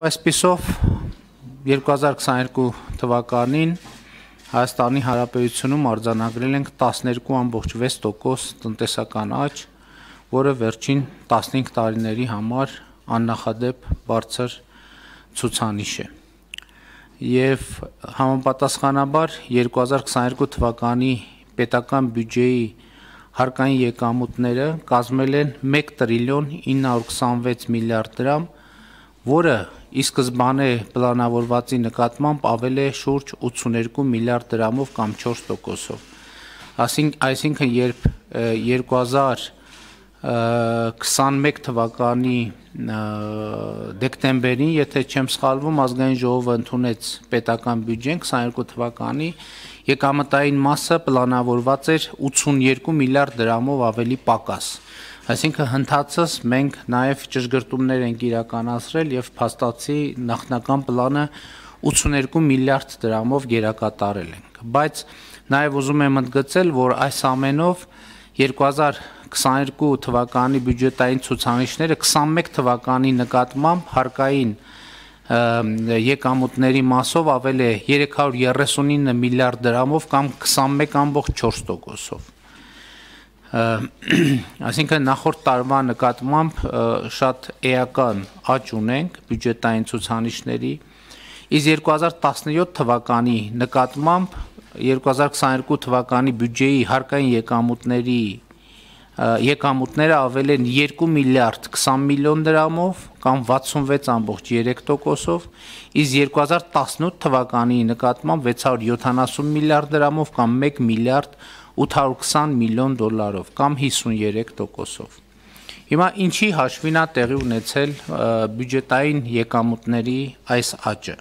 Այսպիսով 2022 թվականին Հայաստանի Հանրապետությունում արձանագրել ենք 12.6% տնտեսական աճ, որը վերջին 15 տարիների համար աննախադեպ բարձր ցուցանիշ է։ Եվ համապատասխանաբար 2022 թվականի պետական բյուջեի հարկային եկամուտները կազմել են 1 տրիլիոն 926 միլիարդ դրամ, որը ի սկզբանե պլանավորվածի նկատմամբ ավել է շուրջ 82 միլիարդ դրամով կամ 4%-ով։ Այսինքն երբ 2021 թվականի դեկտեմբերին, եթե չեմ սխալվում, ազգային ժողովը ընդունեց պետական բյուջեն 22 թվականի, եկամտային մասը պլանավորված էր 82 միլիարդ դրամով ավելի պակաս։ Այսինքն հնդածս մենք նաև ճշգրտումներ ենք իրականացրել եւ փաստացի նախնական պլանը 82 միլիարդ դրամով գերակատարել ենք, բայց նաև ուզում եմ ընդգծել, որ այս ամենով 2022 թվականի բյուջետային ցուցանիշները 21 թվականի նկատմամբ հարկային եկամուտների մասով ավել է 339 միլիարդ դրամով կամ 21.4%-ով։ Այսինքն նախորդ տարվա նկատմամբ շատ էական աճ ունենք բյուջետային ցուցանիշների, իսկ 2017 թվականի նկատմամբ 2022 թվականի բյուջեի հարկային եկամուտները ավել են 2 միլիարդ 20 միլիոն դրամով կամ 66.3%-ով, իսկ 2018 թվականի նկատմամբ 670 միլիարդ դրամով կամ 1 միլիարդ 820 միլիոն դոլարով կամ 53%-ով։ Հիմա ինչի հաշվին է տեղի ունեցել բյուջետային եկամուտների այս աճը։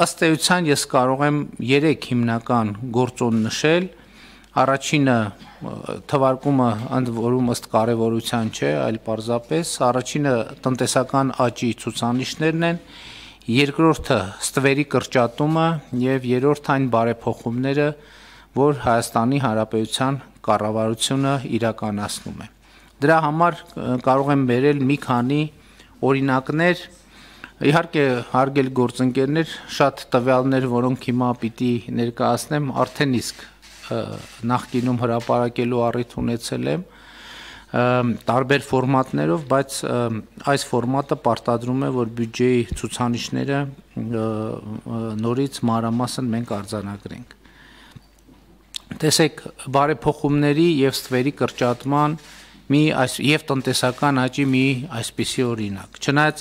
Ըստ էության ես կարող եմ 3 հիմնական գործոն նշել։ Առաջինը թվարկումը ընդ որում ըստ կարևորության չէ, այլ պարզապես առաջինը տնտեսական աճի ցուցանիշներն են, երկրորդը ստվերի կրճատումը եւ երրորդը այն բարեփոխումները, որ Հայաստանի Հանրապետության կառավարությունը իրականացնում է։ Դրա համար կարող եմ բերել մի քանի օրինակներ, իհարկե հարգելի գործընկերներ, շատ տվյալներ, որոնք հիմա պիտի ներկայացնեմ, արդեն իսկ նախկինում հրապարակելու առիթ ունեցել եմ տարբեր ֆորմատներով, բայց այս ֆորմատը պարտադրում է, որ բյուջեի ցուցանիշները նորից մանրամասն մենք արձանագրենք։ Տեսեք, բարեփոխումների եւ ստվերի կրճատման եւ տնտեսական աճի մի այսպիսի օրինակ։ Չնայած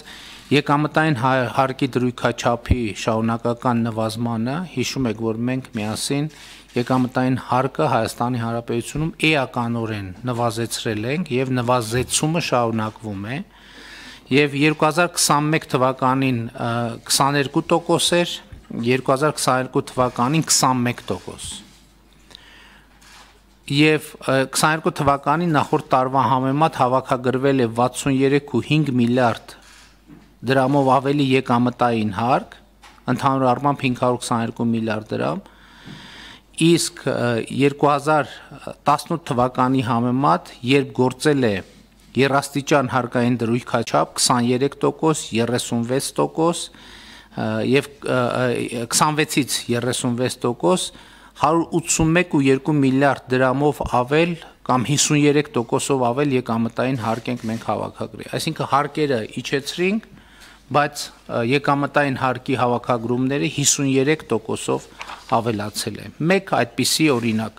եկամտային հարկի դրույքաչափի շարունակական նվազմանը, հիշում եք, որ մենք միասին եկամտային հարկը Հայաստանի Հանրապետությունում էականորեն նվազեցրել ենք եւ նվազեցումը շարունակվում է, եւ 2021 թվականին 22% էր, 2022 թվականին 21%։ Եվ 22 թվականի նախորդ տարվա համեմատ հավաքագրվել է 63.5 միլիարդ դրամով ավելի եկամտային հարկ, ընդհանուր առմամբ 522 միլիարդ դրամ, իսկ 2018 թվականի համեմատ, երբ գործել է երաստիճան հարկային դրույքաչափ 23%, 36% եւ 26-ից 36%, 181.2 միլիարդ դրամով ավել կամ 53%-ով ավել եկամտային հարկ ենք մենք հավաքագրել։ Այսինքն հարկերը իջեցրինք, բայց եկամտային հարկի հավաքագրումները 53%-ով ավելացել է։ Մեկ այդպիսի օրինակ,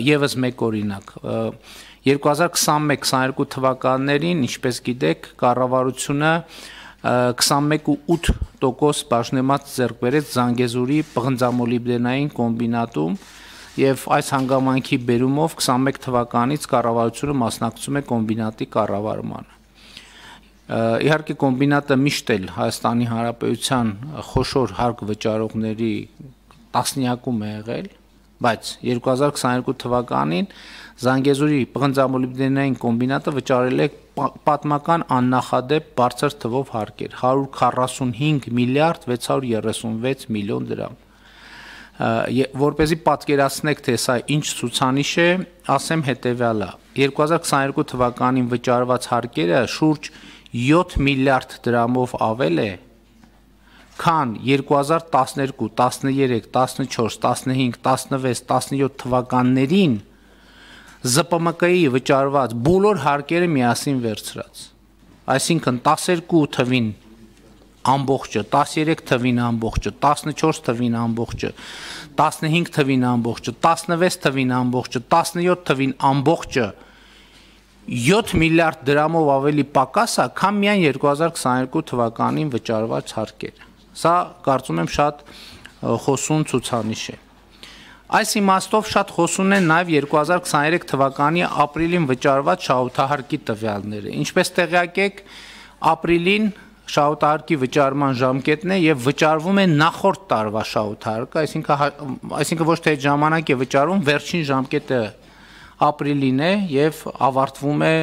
եւս մեկ օրինակ, 2021-22 թվականներին, ինչպես գիտեք, կառավարությունը 21.8% բաժնեմած ձեռք բերեց Զանգեզուրի պղնձամոլիբդենային կոմբինատում եւ այս հանգամանքի բերումով 21 թվականից կառավարությունը մասնակցում է կոմբինատի կառավարմանը։ Իհարկե կոմբինատը միշտ էլ Հայաստանի Հանրապետության խոշոր հարկ վճարողների տասնյակում է եղել, բայց 2022 թվականին Զանգեզուրի պղնձամոլիբդենային կոմբինատը վճարել է պատմական աննախադեպ բարձր թվով հարկեր 145 միլիարդ 636 միլիոն դրամ։ Որպեսզի պատկերացնեք, թե սա ինչ ցուցանիշ է, ասեմ հետևյալը. 2022 թվականին վճարված հարկերը շուրջ 7 միլիարդ դրամով ավել է, քան 2012, 13, 14, 15, 16, 17 թվականներին ԶՊՄԿ-ի վճարված բոլոր հարկերը միասին վերցրած։ Այսինքն 12 թվին ամբողջը, 13 թվին ամբողջը, 14 թվին ամբողջը, 15 թվին ամբողջը, 16 թվին ամբողջը, 17 թվին ամբողջը 7 միլիարդ դրամով ավելի պակաս է, քան միայն 2022 թվականին վճարված հարկերը։ Սա կարծում եմ շատ խոսուն ցուցանիշ է։ Այս իմաստով շատ խոսուն են նաև 2023 թվականի ապրիլին վճարված շահութահարկի տվյալները։ Ինչպես տեղյակ եք, ապրիլին շահութահարկի վճարման ժամկետն է եւ վճարվում է նախորդ տարվա շահութահարկը, այսինքն ոչ թե այդ ժամանակ է վճարվում, վերջին ժամկետը ապրիլին է եւ ավարտվում է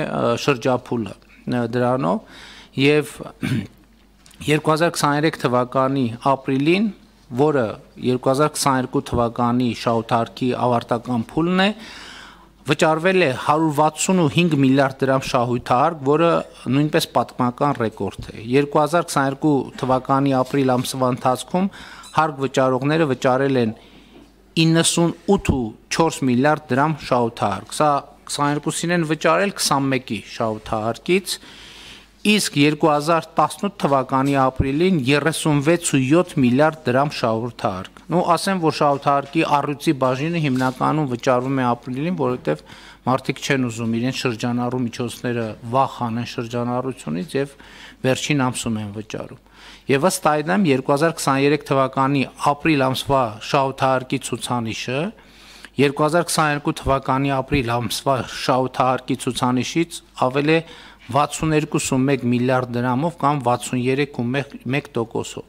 շրջափուլը դրանով եւ 2023 թվականի ապրիլին, որը 2022 թվականի շահութահարկի ավարտական փուլն է, վճարվել է 165 միլիարդ դրամ շահութահարկ, որը նույնպես պատմական ռեկորդ է։ 2022 թվականի ապրիլ ամսվա ընթացքում հարկ վճարողները վճարել են 98.4 միլիարդ դրամ շահութահարկ։ Սա 22-ին են վճարել 21-ի շահութահարկից, իսկ 2018 թվականի ապրիլին 36.7 միլիարդ դրամ շահութահարկ։ Ասեմ, որ շահութահարկի առյուծի բաժինը հիմնականում վճարվում է ապրիլին, որովհետև մարդիկ չեն ուզում իրենց շրջանառու միջոցները վաղ անեն շրջանառությունից եւ վերջին ամսում են վճարում։ Եվ ըստ այդմ 2023 թվականի ապրիլ ամսվա շահութահարկի ցուցանիշը 2022 թվականի ապրիլ ամսվա շահութահարկի ցուցանիշից ավել է 62.1 միլիարդ դրամով կամ 63.1%-ով։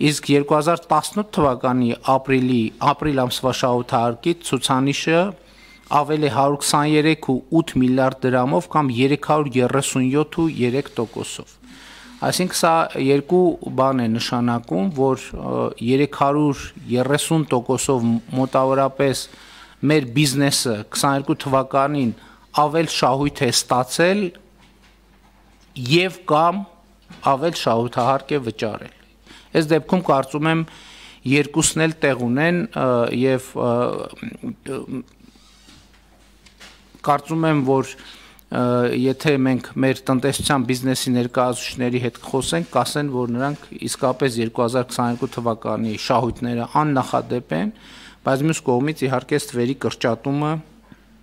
Իսկ 2018 թվականի ապրիլ ամսվա շահութահարկի ցուցանիշը ավել է 123.8 միլիարդ դրամով կամ 337.3%-ով։ Այսինքն սա երկու բան է նշանակում, որ 330%-ով մոտավորապես մեր բիզնեսը 22 թվականին ավել շահույթ է ստացել եւ կամ ավել շահութահարկ է վճարել։ Այս դեպքում կարծում եմ երկուսն էլ տեղ ունեն եւ կարծում եմ, որ եթե մենք մեր տնտեսության բիզնեսի ներկայացուցիչների հետ խոսենք, կասեն, որ նրանք իսկապես 2022 թվականի շահույթները աննախադեպ են, բայց մյուս կողմից իհարկե ստվերի կրճատումը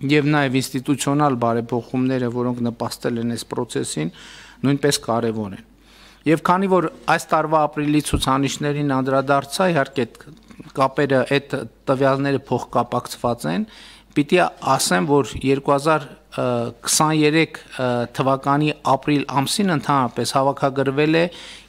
եւ նաեւ ինստիտուցիոնալ բարեփոխումները, որոնք նպաստել են այս process-ին, նույնպես կարեւոր են։ Եվ քանի որ այս տարվա ապրիլի ցուցանիշներին անդրադարձա, իհարկե կապերը այդ տվյալները փոխկապակցված են, պիտի ասեմ, որ 2023 թվականի ապրիլ ամսին ընդհանրապես հավաքագրվել է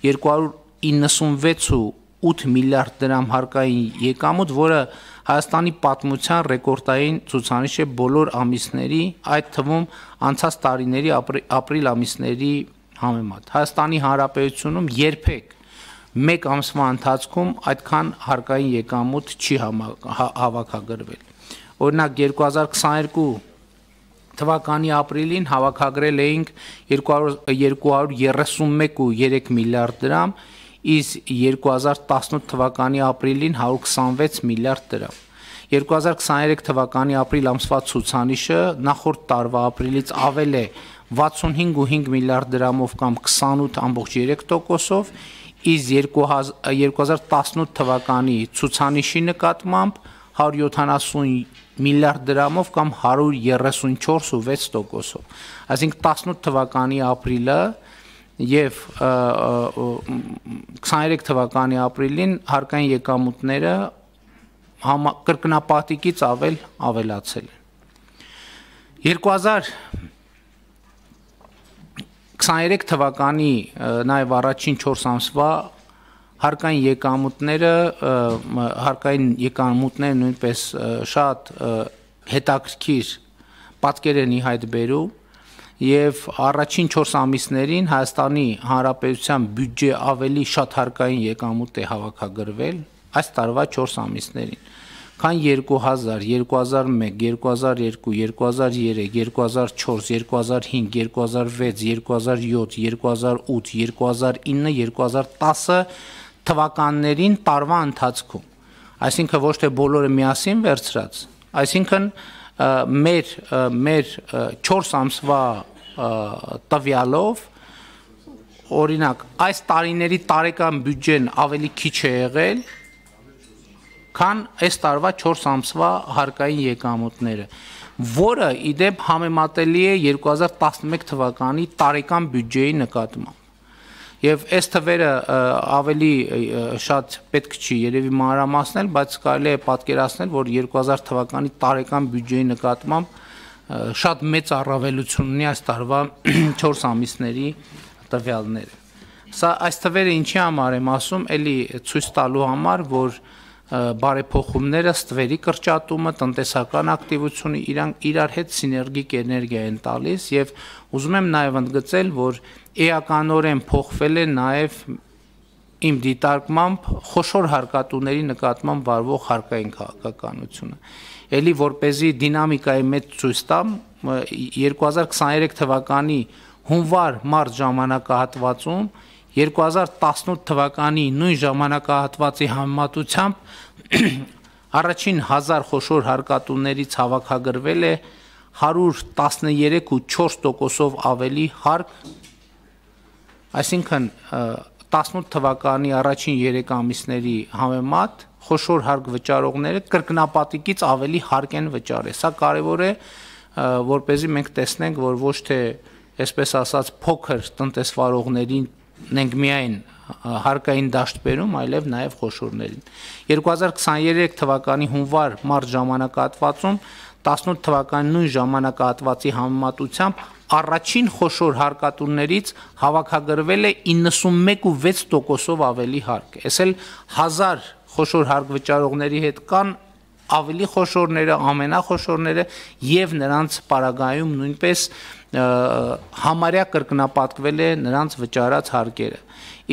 296.8 միլիարդ դրամ հարկային եկամուտ, որը Հայաստանի պատմության ռեկորդային ցուցանիշ է բոլոր ամիսների, այդ թվում անցած տարիների ապրիլ ամիսների համեմատ։ Հայաստանի Հանրապետությունում երբեք մեկ ամսվա ընթացքում այդքան հարկային եկամուտ չի հավաքագրվել։ Օրինակ 2022 թվականի ապրիլին հավաքագրել էինք 231.3 միլիարդ դրամ, իսկ 2018 թվականի ապրիլին 126 միլիարդ դրամ։ 2023 թվականի ապրիլ ամսվա ցուցանիշը նախորդ տարվա ապրիլից ավել է 65.5 միլիարդ դրամով կամ 28.3%-ով, իսկ 2018 թվականի ցուցանիշի նկատմամբ 170 միլիարդ դրամով կամ 134.6%-ով։ Այսինքն 18 թվականի ապրիլը եւ 23 թվականի ապրիլին հարկային եկամուտները կրկնապատիկից ավելացել են։ 2023 թվականի նաեւ առաջին 4 ամսվա հարկային եկամուտները նույնպես շատ հետաքրքիր պատկեր են ի հայտ բերում եւ առաջին 4 ամիսներին Հայաստանի Հանրապետության բյուջե ավելի շատ հարկային եկամուտ է հավաքագրվել այս տարվա 4 ամիսներին, քան 2000, 2001, 2002, 2003, 2004, 2005, 2006, 2007, 2008, 2009, 2010 թվականներին տարվա ընթացքում։ Այսինքն ոչ թե բոլորը միասին վերցրած, այսինքն մեր 4 ամսվա տվյալով օրինակ այս տարիների տարեկան բյուջեն ավելի քիչ է եղել, քան այս տարվա 4 ամսվա հարկային եկամուտները, որը իդեպ համեմատելի է 2011 թվականի տարեկան բյուջեի նկատմամբ։ Եվ այս թվերը ավելի շատ պետք չի երևի մանրամասնել, բայց կարելի է պատկերացնել, որ 2000 թվականի տարեկան բյուջեի նկատմամբ շատ մեծ առավելություն ունի այս տարվա 4 ամիսների տվյալները։ Սա այս թվերը ինչի համար եմ ասում, էլի ցույց տալու համար, որ բարեփոխումները, ստվերի կրճատումը, տնտեսական ակտիվությունը իրար հետ սիներգիկ էներգիա են տալիս եւ ուզում եմ նաեւ ընդգծել, որ էականորեն փոխվել է նաեւ իմ դիտարկմամբ խոշոր հարկատուների նկատմամբ վարվող հարկային քաղաքականությունը։ Էլի որպեսզի դինամիկայի մեջ ցույց տամ 2023 թվականի հունվար-մարտ ժամանակահատվածում 2018 թվականի նույն ժամանակահատվածի համեմատությամբ առաջին 1000 խոշոր հարկատուներից հավաքագրվել է 113.4%-ով ավելի հարկ, այսինքն 18 թվականի առաջին 3 ամիսների համեմատ խոշոր հարկ վճարողները կրկնապատիկից ավելի հարկ են վճարել։ Սա կարևոր է, որպեսզի մենք տեսնենք, որ ոչ թե այսպես ասած փոքր տնտեսվարողներին ենք միայն հարկային դաշտ բերում, այլև նաև խոշորներին։ 2023 թվականի հունվար-մարտ ժամանակահատվածում 18 թվականի նույն ժամանակահատվածի համեմատությամբ առաջին խոշոր հարկատուներից հավաքագրվել է 91.6%-ով ավելի հարկ։ Այս էլ 1000 խոշոր հարկ վճարողների հետ կան ավելի խոշորները, ամենախոշորները եւ նրանց պարագայում նույնպես համարյա կրկնապատկվել է նրանց վճարած հարկերը։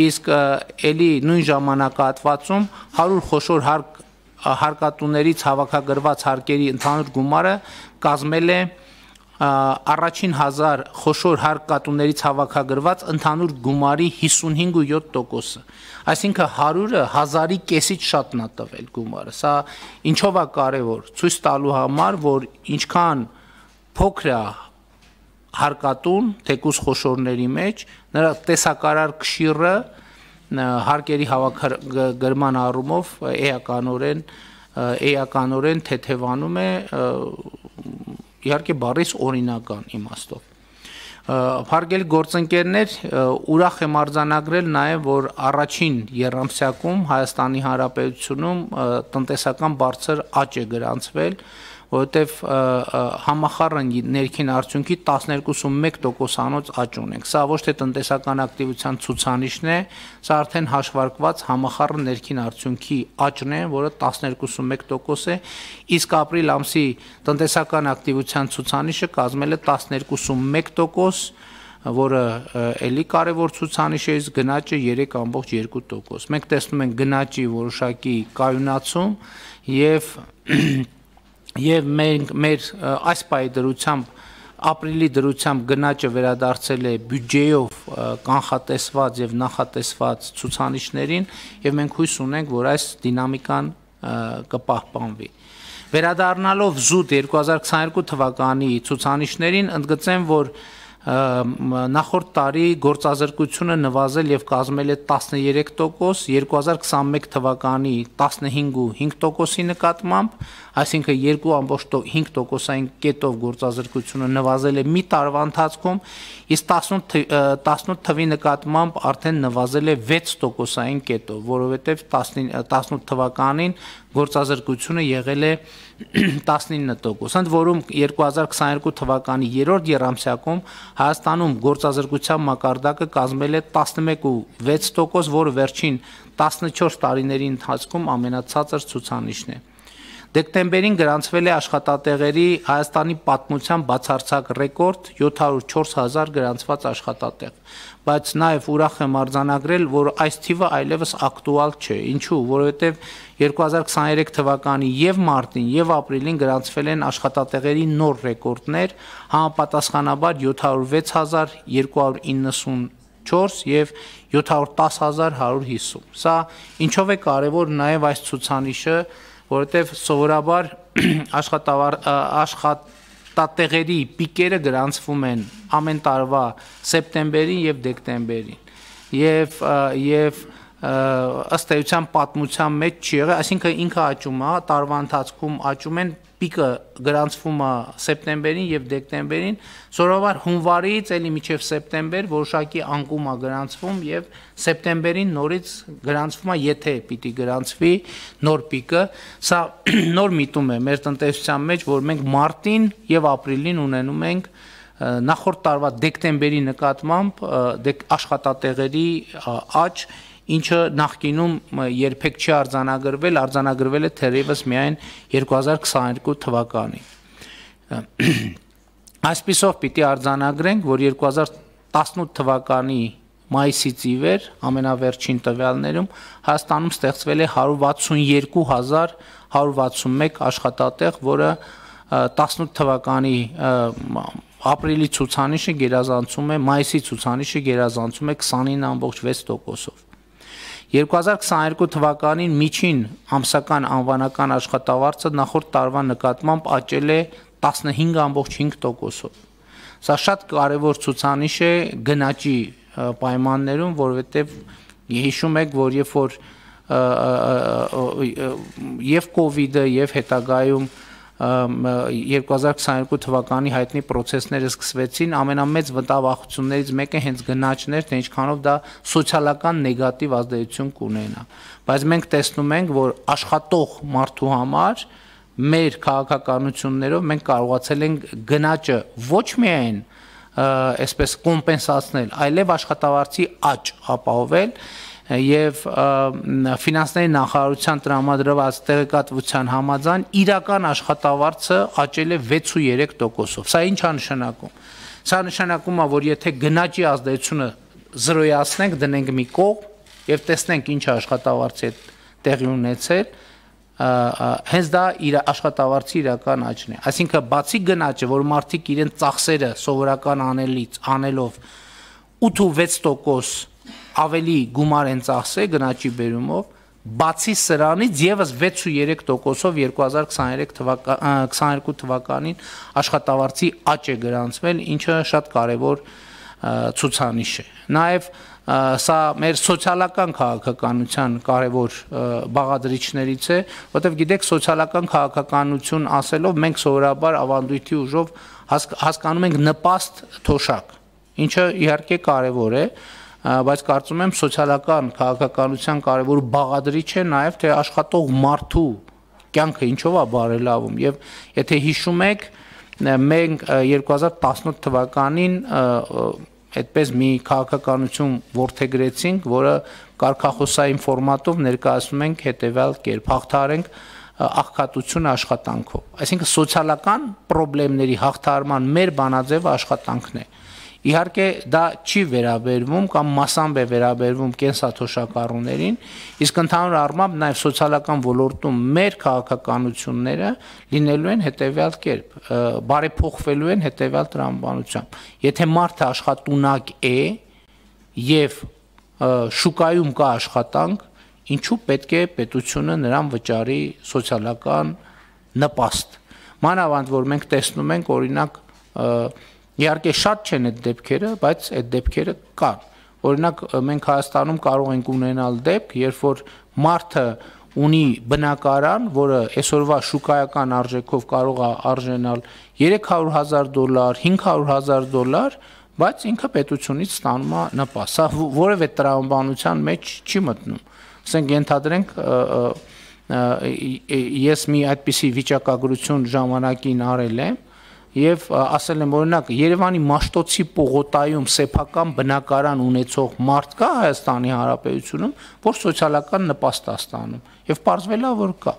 Իսկ ելի նույն ժամանակահատվածում 100 խոշոր հարկատուներից հավաքագրված հարկերի ընդհանուր գումարը կազմել է առաջին 1000 խոշոր հարկատուներից հավաքագրված ընդհանուր գումարի 55.7%-ը։ Այսինքն 100-ը 1000-ի կեսից շատն է տվել գումարը։ Սա ինչով է կարևոր, ցույց տալու համար, որ ինչքան փոքր է հարկատուն, թեկուզ խոշորների մեջ, նրա տեսակարար կշիռը հարկերի հավաքագրման առումով էականորեն թեթևանում է, իհարկե բառից օրինական իմաստով։ Հարգելի գործընկերներ, ուրախ եմ արձանագրել նաև, որ առաջին եռամսյակում Հայաստանի Հանրապետությունում տնտեսական բարձր աճ է գրանցվել, որովհետև համախառն ներքին արդյունքի 12.1%-անոց աճ ունենք։ Սա ոչ թե տնտեսական ակտիվության ցուցանիշն է, սա արդեն հաշվարկված համախառն ներքին արդյունքի աճն է, որը 12.1% է, իսկ ապրիլ ամսի տնտեսական ակտիվության ցուցանիշը կազմել է 12.1%, որը էլի կարևոր ցուցանիշ է, իսկ գնաճը 3.2%։ Մենք տեսնում ենք գնաճի որոշակի կայունացում եւ մեր այս պահի դրությամբ ապրիլի դրությամբ գնաճը վերադարձել է բյուջեով կանխատեսված եւ նախատեսված ցուցանիշներին եւ մենք հույս ունենք, որ այս դինամիկան կպահպանվի։ Վերադառնալով զուտ 2022 թվականի ցուցանիշներին, ընդգծեմ, որ նախորդ տարի գործազրկությունը նվազել եւ կազմել է 13%, 2021 թվականի 15.5%-ի նկատմամբ, այսինքն 2.5%-ային կետով գործազրկությունը նվազել է մի տարվա ընթացքում, իսկ 18 թվի նկատմամբ արդեն նվազել է 6%-ային կետով, որովհետեւ 18 թվականին գործազրկությունը եղել է 19%, ընդ որում 2022 թվականի երրորդ եռամսյակում Հայաստանում գործազրկության մակարդակը կազմել է 11.6%, որը վերջին 14 տարիների ընթացքում ամենացածր ցուցանիշն է։ Դեկտեմբերին գրանցվել է աշխատատեղերի Հայաստանի պատմության բացարձակ ռեկորդ 704,000 գրանցված աշխատատեղ, բայց նաև ուրախ եմ արձանագրել, որ այս թիվը այլևս ակտուալ չէ։ Ինչու՞, որովհետև 2023 թվականի եւ մարտին եւ ապրիլին գրանցվել են աշխատատեղերի նոր ռեկորդներ, համապատասխանաբար 706.294 եւ 710.150։ Սա ինչով է կարևոր նաև այս ցուցանիշը, որովհետև սովորաբար աշխատատեղերի պիկերը գրանցվում են ամեն տարվա սեպտեմբերին եւ դեկտեմբերին եւ ըստ էության պատմության մեջ չի եղել, այսինքն ինքը աճում է, տարվա ընթացքում աճում են, պիկը գրանցվում է սեպտեմբերին եւ դեկտեմբերին, սովորաբար հունվարից էլի մինչև սեպտեմբեր որոշակի անկում է գրանցվում եւ սեպտեմբերին նորից գրանցվում է, եթե պիտի գրանցվի նոր պիկը, սա նոր միտում է մեր տնտեսության մեջ, որ մենք մարտին եւ ապրիլին ունենում ենք նախորդ տարվա դեկտեմբերի նկատմամբ աշխատատեղերի աճ, ինչը նախկինում երբեք չի արձանագրվել է թերևս միայն 2022 թվականին։ Այսպիսով պիտի արձանագրենք, որ 2018 թվականի մայիսից ի վեր ամենավերջին տվյալներում Հայաստանում ստեղծվել է 162.161 աշխատատեղ, որը 18 թվականի ապրիլի ցուցանիշը գերազանցում է, մայիսի ցուցանիշը գերազանցում է 29.6%-ով։ 2022 թվականին միջին ամսական անվանական աշխատավարձը նախորդ տարվա նկատմամբ աճել է 15.5%-ով։ Սա շատ կարևոր ցուցանիշ է գնաճի պայմաններում, որովհետև հիշում եք, որ երբ որ եւ կովիդը եւ հետագայում 2022 թվականի հայտնի պրոցեսները սկսվեցին, ամենամեծ վտավախություններից մեկը հենց գնաճն էր, թե ինչքանով դա սոցիալական նեգատիվ ազդեցություն կունենա։ Բայց մենք տեսնում ենք, որ աշխատող մարդու համար մեր քաղաքականություններով մենք կարողացել ենք գնաճը ոչ միայն այսպես կոմպենսացնել, այլև աշխատավարձի աճ ապահովել եւ ֆինանսների նախարարության տրամադրված տեղեկատվության համաձայն իրական աշխատավարձը աճել է 6.3%-ով։ Սա ինչ է նշանակում։ Սա նշանակում է, որ եթե գնաճի ազդեցությունը զրոյացնենք, դնենք մի կողմ եւ տեսնենք ինչ աշխատավարձի է տեղի ունեցել, հենց դա իր աշխատավարձի իրական աճն է։ Այսինքն բացի գնաճը, որ մարդիկ իրենց ծախսերը սովորական անելով 8.6% ավելի գումար են ծախսել գնաճի բերումով, բացի սրանից եւս 6.3%-ով 2022 թվականին աշխատավարձի աճ է գրանցվել, ինչը շատ կարևոր ցուցանիշ է։ Նաեւ սա մեր սոցիալական քաղաքականության կարևոր բաղադրիչներից է, որտեղ գիտեք, սոցիալական քաղաքականություն ասելով մենք սովորաբար ավանդույթի ուժով հասկանում ենք նպաստ թոշակ, ինչը իհարկե կարևոր է, բայց կարծում եմ սոցիալական քաղաքականության կարևոր բաղադրիչ է նաև թե աշխատող մարդու կյանքը ինչով է բարելավում եւ եթե հիշում եք մենք 2018 թվականին այդպես մի քաղաքականություն որդեգրեցինք, որը կարգախոսային ֆորմատով ներկայացնում ենք հետեւյալ կերպ հաղթահարենք աղքատությունը աշխատանքով։ Այսինքն սոցիալական խնդիրների հաղթահարման մեր բանաձևը աշխատանքն է։ Իհարկե դա չի վերաբերվում կամ մասամբ է վերաբերվում կենսաթոշակառուներին, իսկ ընդհանուր առմամբ նաև սոցիալական ոլորտում մեր քաղաքականությունները լինելու են հետևյալ կերպ, բարեփոխվելու են հետևյալ տրամաբանությամբ։ Եթե մարդը աշխատունակ է եւ շուկայում կա աշխատանք, ինչու պետք է պետությունը նրան վճարի սոցիալական նպաստ։ Մանավանդ որ մենք տեսնում ենք օրինակ իհարկե շատ չեն այդ դեպքերը, բայց այդ դեպքերը կան։ Օրինակ մենք Հայաստանում կարող ենք ունենալ դեպք, երբ որ մարդը ունի բնակարան, որը այսօրվա շուկայական արժեքով կարող է արժենալ $300,000, $500,000, բայց ինքը պետությունից ստանում է նպաստ։ Սա որևէ տրամաբանության մեջ չի մտնում։ Ասենք ենթադրենք ես մի այդպիսի վիճակագրություն ժամանակին արել եմ եւ ասել եմ օրինակ Երևանի Մաշտոցի պողոտայում սեփական բնակարան ունեցող մարդ կա Հայաստանի Հանրապետությունում, որ սոցիալական նպաստ է ստանում եւ պարզվել է որ կա։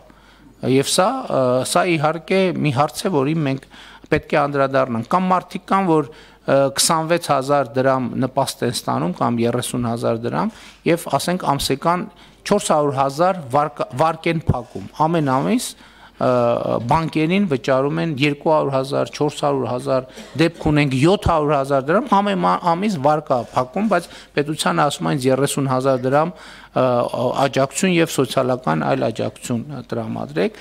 Եվ սա իհարկե մի հարց է, որին մենք պետք է անդրադառնանք, կամ մարդիկ կան, որ 26,000 դրամ նպաստ են ստանում կամ 30,000 դրամ եւ ասենք ամսական 400,000 վարկ են փակում ամեն ամիս բանկերին վճարում են 200,000, 400,000, դեպք ունենք 700,000 դրամ ամեն ամիս վարկա փակում, բայց պետությանը ասում են 30,000 դրամ աջակցություն եւ սոցիալական այլ աջակցություն տրամադրեք։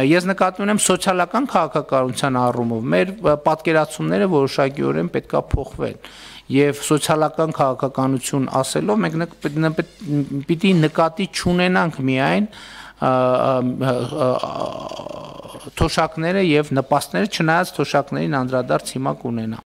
Ես նկատի ունեմ սոցիալական քաղաքականության առումով մեր պատկերացումները որոշակիորեն պետքա փոխվեն եւ սոցիալական քաղաքականություն ասելով մենք պիտի նկատի չունենանք միայն թոշակները եւ նպաստները, չնայած թոշակներին անդրադարձ հիմա կունենա։